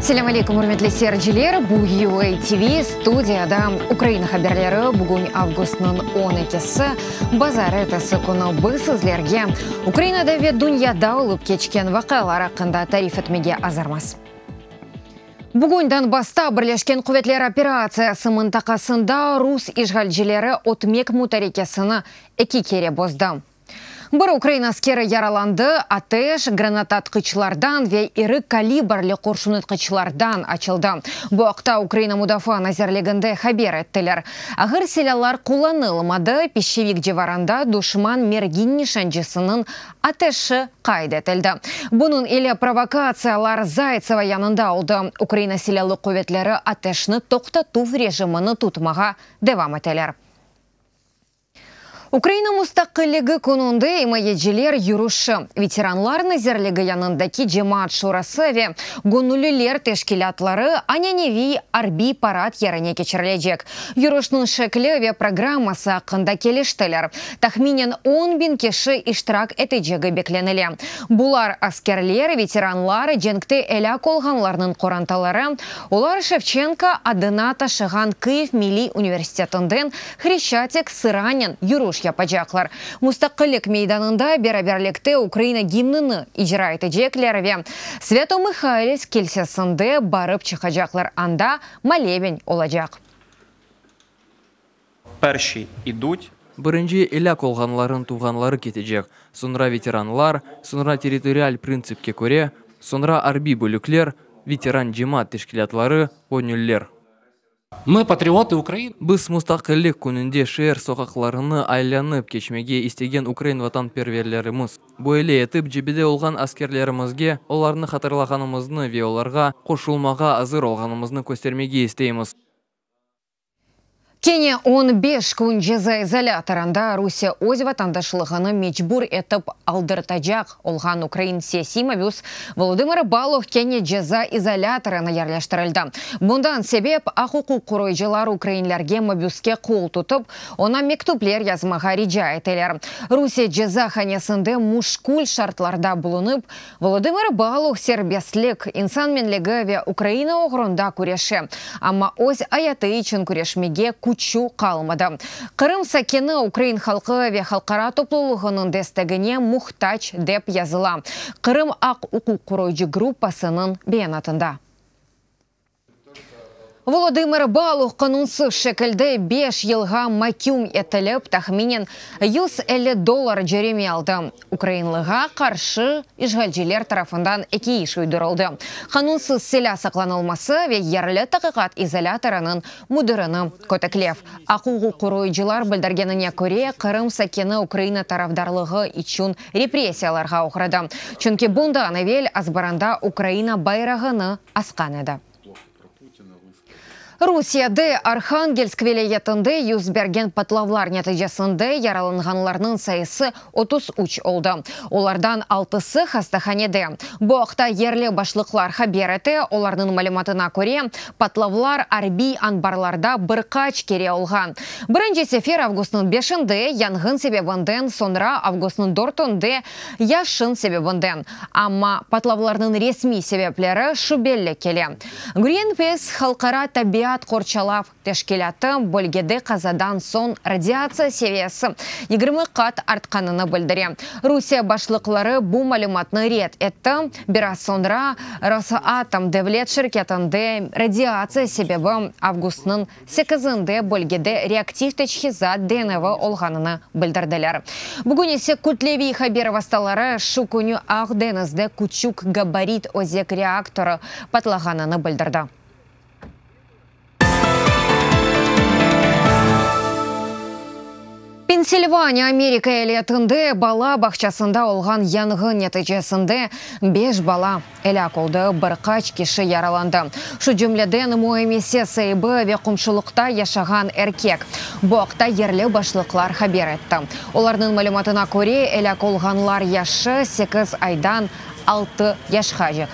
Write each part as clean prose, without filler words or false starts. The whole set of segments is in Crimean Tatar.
Selâm aleykum, ürmetli seyirciler! Bu UA TV, studiyada Ukraina haberleri. Bugün avgustnıñ 12-si, bazarertesi künü. Biz sizlerge Ukrainada ve dünyada olıp keçken vaqialar aqqında tarif etmege azırmız. Bugün Donbassta Birleşken Quvetler operatsiyası mıntaqasında rus işğalcileri ötmek mutarekesini eki kere bozdı. Bir ukrain askeri yaralandı, ateş granatatqıçlardan ve iri kalibrli qurşunatqıçlardan açıldı. Bu aqta Ukraina Mudafaa nazirliginde haber ettiler. Ağır silâlar qullanılmadı, Pişçevik civarında duşman mergin nişancısınıñ ateşi qayd etildi. Bunıñ ile provokatsiyalar Zaytsevo yanında oldı. Ukraina Silâlı quvetleri ateşni toqtatuv rejimini tutmağa devam eteler. Ukraina Mustaqilligi kününde imayeciler yürüşi, Veteranlar nazirligi yanındaki Cemaat şurası ve göñülliler teşkilâtları ananeviy arbiy parad yerine keçirilecek. Yürüşniñ şekli ve programması aqqında keliştiler. Tahminen 10.000 kişi iştirak etecegi beklenile. Bular askerler, veteranlar, cenkte elâk olğanlarnıñ qorantaları, olar Şevçenko adına taşığan Kıyiv milliy universitetinden Hreşçatik sıranen yürüş yapacaqlar. Mustaqillik meydanında beraberlikte Ukraina gimnini icra etecekler ve Svâto-Mıhaylivsk kilsesinde barıp çıqacaqlar, anda moleben olacaq. Perşiy idut. Birinci elâk olğanlarnıñ tuvğanları ketecek, soñra veteranlar, soñra territorial printsipke köre, soñra arbiy bölükler, veteran cemaat teşkilâtları, göñüller. Mı, patriotı Ukrainı. Biz Mustaqillik kününde şeer soqaqlarını aylanıp keçmege istegen ukrain vatanperverlerimiz. Böyle etip cebede olğan askerlerimizge olarnı hatırlağanımıznı ve olarğa qoşulmağa azır olğanımıznı köstermege isteymiz. Kene 15 kün ceza izolâtorında Rusiye öz vatandaşlığını mecbur etip aldırtacaq olğan ukrain siyasiy mabüs Volodımır Baluh kene ceza izolâtorına yerleştirildi. Bundan sebep aq-uquq qoruyıcılar ukrainlerge mabüske qol tutıp, oña mektüpler yazmağa rica eteler. Rusiye cezahanesinde muşkül şartlarda bulunıp, Volodımır Baluh serbestlik, insan menligi ve Ukraina oğrunda küreşe, amma öz ayatı içün küreşmege küçü qalmadı. Qırım sakini ukrain halqı ve halqara toplulığınıñ destegine muhtac, dep yazıla Qırım aq-uquq qoruyıcı gruppasınıñ beyanatında. Volodımır Baluh qanunsız şekilde beş yılğa maküm etilip, tahminen 150 dollar cöreme aldı. Ukrainlığa qarşı işğalciler tarafından eki iş uydurıldı, qanunsız silâ saqlanılması ve yerli taqiqat izolâtorınıñ müdirini köteklev. Aq-uquq qoruyıcılar bildirgenine köre, Qırım sakini Ukraina tarafdarlığı içün repressiyalarğa oğradı, çünki bundan evel azbarında Ukraina bayrağını asqan edi. Rusiyede Arhangelsk vilâyetinde yüz bergen patlavlar neticesinde yaralanğanlarnıñ sayısı 33 oldı. Olardan altısı hastahanede. Bu aqta yerli başlıqlar haber ete. Olarnıñ malümatına köre, patlavlar arbiy anbarlarda bir qaç kere olğan. Birinci sefer avgustnıñ beşinde yanğın sebebinden, soñra avgustnıñ dörtünde yaşın sebebinden. Amma patlavlarnıñ resmiy sebepleri şübeli kele. Greenpeace halqara tabiat qorçalav teşkilâtı bölgede qazadan soñ radiatsiya seviyesi 20 qat artqanını bildire. Rusiye başlıqları bu malümatnı red etti. Biraz soñra Rosatom devlet şirketinde radiatsiya sebebi avgustnıñ sekizinde bölgede reaktiv teçhizat deñevi olğanını bildirdiler. Bugün ise kütleviy haber vastaları şu künü Aq deñizde küçük gabarit özek reaktorı patlağanını bildirdi. Pensilvaniya, Amerika eyaletinde bala bağçasında olğan yanğın neticesinde beş bala elâk oldı, bir qaç kişi yaralandı. Şu cümleden, müemmese saibi ve qomşulıqta yaşağan erkek. Bu aqta yerli başlıqlar haber etti. Olarnıñ malümatına köre, elâk olğanlar yaşı sekiz aydan altı yaşqacek.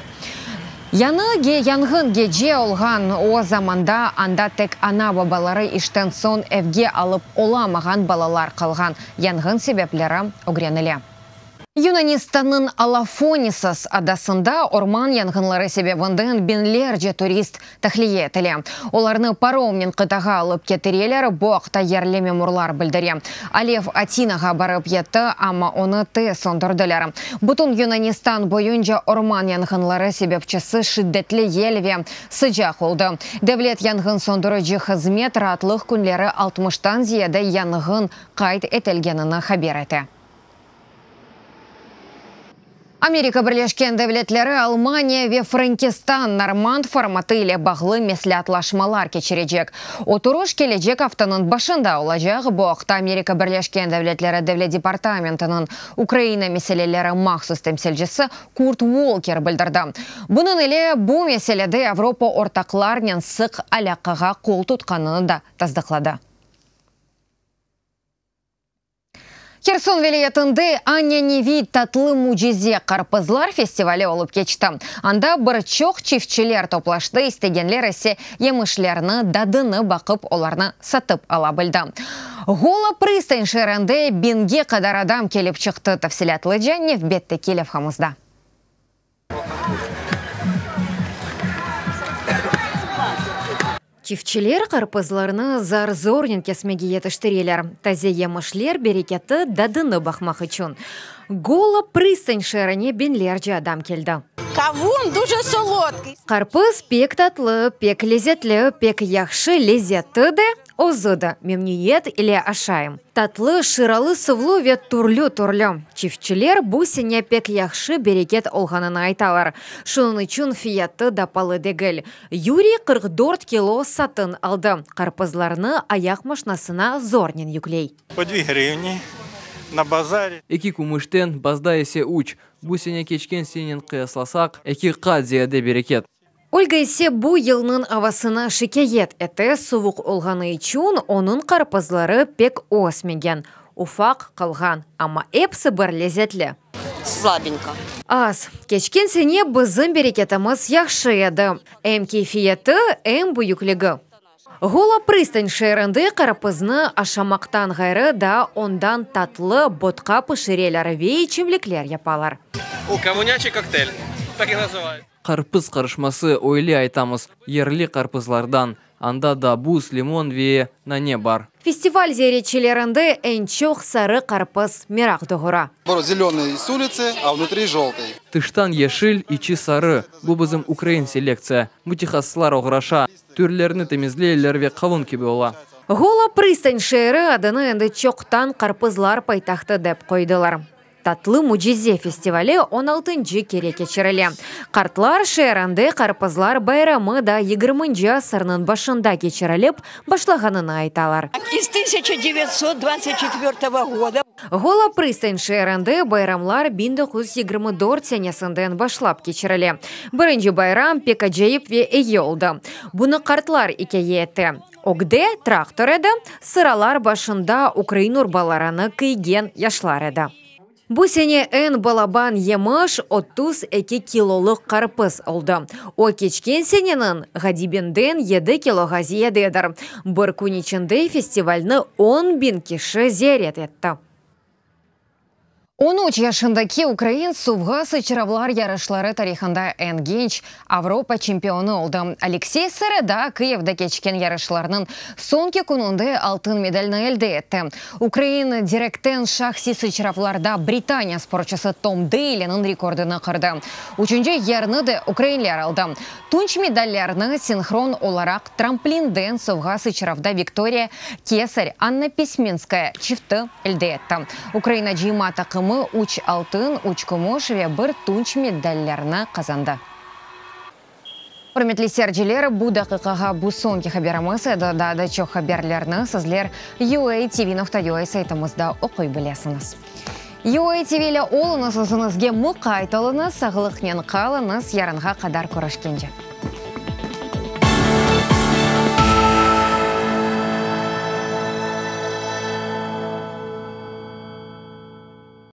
Yañı yanğın gece olğan, o zamanda anda tek ana-babaları işten soñ evge alıp olamağan balalar qalğan. Yanğın sebepleri ögrenile. Yunanistannıñ Elafonisios adasında orman yanğınları sebebinden biñlerce turist tahliye etile. Olarnı paromnen qıtağa alıp ketireler, bu aqta yerli memurlar bildire. Alev Atinağa barıp yetti, amma onı tez söndürdiler. Bütün Yunanistan boyunca orman yanğınları sebepçisi şiddetli yel ve sıcaq oldı. Devlet yanğın söndürici hızmet raatlıq künleri altmıştan ziyade yanğın qayd etilgenini haber ete. Amerika Birleşken Devletleri, Almaniya ve Frenkistan Normand formatı ile bağlı mesleatlaşmalar keçirecek. Oturış kelecek aftanıñ başında olacaq. Bu aqta Amerika Birleşken Devletleri Devlet departamentiniñ Ukraina meseleleri mahsus temsilcisi Kurt Volker bildirdi. Bunıñ ile bu meselede Avropa ortaqlarnen sıq alâqağa qol tutqanını da tasdıqladı. Herson vilâyetinde ananeviy Tatlı mücize qarpızlar festivali olıp keçti. Anda bir çoq çiftçiler toplaştı, istegenler ise yemişlerni dadını baqıp, olarnı satıp ala bildi. Gola Prıstan şeerinde biñge qadar adam kelip çıqtı. Tafsilâtlıca nevbetteki levhamızda. Çiftçiler qarpızlarnı zar-zornen kesmege yetiştireler, taze yemişler bereketi dadını baqmaq içün. Gola Prıstan şeerine biñlerce adam keldi. Kavun duje solodkıy. Qarpız pek tatlı, pek lezetli, pek yahşı lezeti de, Özü de memnüniyet ile aşayım. Tatlı, şıralı suvlu ve türlü-türlü. Çiftçiler bu sene pek yahşı bereket olğanını aytalar. Şunıñ içün fiyatı da palı degil. Yuriy 44 kilo satın aldı. Qarpızlarnı ayaq maşnasına zornen yükley. Po dvi hrivni na bazari. Eki kümüşten, bazda ise üç. Bu sene keçken senenen qıyaslasaq, eki qat ziyade bereket. Olga ise bu yılnıñ avasına şikâyet ete, suvuq olğanı içün onıñ qarpızları pek ösmegen, ufaq qalğan, amma episi bir lezetli. Slabenko. Az. Keçken sene bizim bereketimiz yahşı edi, em keyfiyeti, em büyükligi. Gola Prıstan şeerinde qarpıznı aşamaqtan ğayrı daa ondan tatlı botqa pişireler ve içimlikler yapalar. O, kavunyaçiy kokteyl, tak i nazıvayut. Qarpız qarışması, öyle aytamız, yerli qarpızlardan. Anda da buz, limon ve nane bar. Festival ziyaretçilerinde eñ çoq sarı qarpız meraq doğura. Zelönıy s uliцы, a vnutri joltıy. Tıştan yeşil, içi sarı. Bu bizim ukrain selektsiya. Mütehassıslar oğraşa, türlerini temizleyler ve qavun kibi ola. Gola Prıstan şeeri adını endi çoqtan qarpızlar paytahtı dep qoydılar. Tatlı mücize festivali on altıncı kere keçirile. Qartlar şeerinde qarpızlar bayramı da yigirminci asırnıñ başında keçirilip başlağanını aytalar. İz tısyaça devyatsot dvadtsat çetvertogo goda. Gola Prıstan şeerinde bayramlar 1924 senesinden başlap keçirile. Birinci bayram pek acayip ve eyi oldı. Bunı qartlar ikâye ete. Ögde traktor edi, sıralar başında ukrain urbalarını kiygen yaşlar edi. Bu sene eñ balaban yemiş 32 kilolıq qarpız oldı. O, keçken seneniñ ğadibinden yedi kiloğa ziyadedir. Bir kün içinde festivalni on biñ kişi ziyaret etti. 13 yaşındaki ukrain suvğa sıçravlar yarışları tarihında eñ genç Avropa çempionı oldı. Aleksey Sereda Kıyivde keçken yarışlarnıñ soñki kününde altın medalni elde etti. Ukrain direkten şahsiy sıçravlarda Britaniya sportçısı Tom Deyliniñ rekordını qırdı. Üçünci yerni de ukrainler aldı. Tunç medallerni sinhron olaraq tramplinden suvğa sıçravda Viktoriya Kesar, Anna Pismenskaya çifti elde etti. Ukraina cıyma taqımı üç altın, üç kümüş ve bir tunç medallerni qazandı. Ürmetli seyirciler, bu daqiqağa bu soñki haberimiz edi. Daa da çoq haberlerni sizler uatv.ua saytımızda oquy bilesiñiz. UATV ile oluñız, özüñizge muqayt oluñız, sağlıqnen qalıñız, yarınğa qadar körüşkence.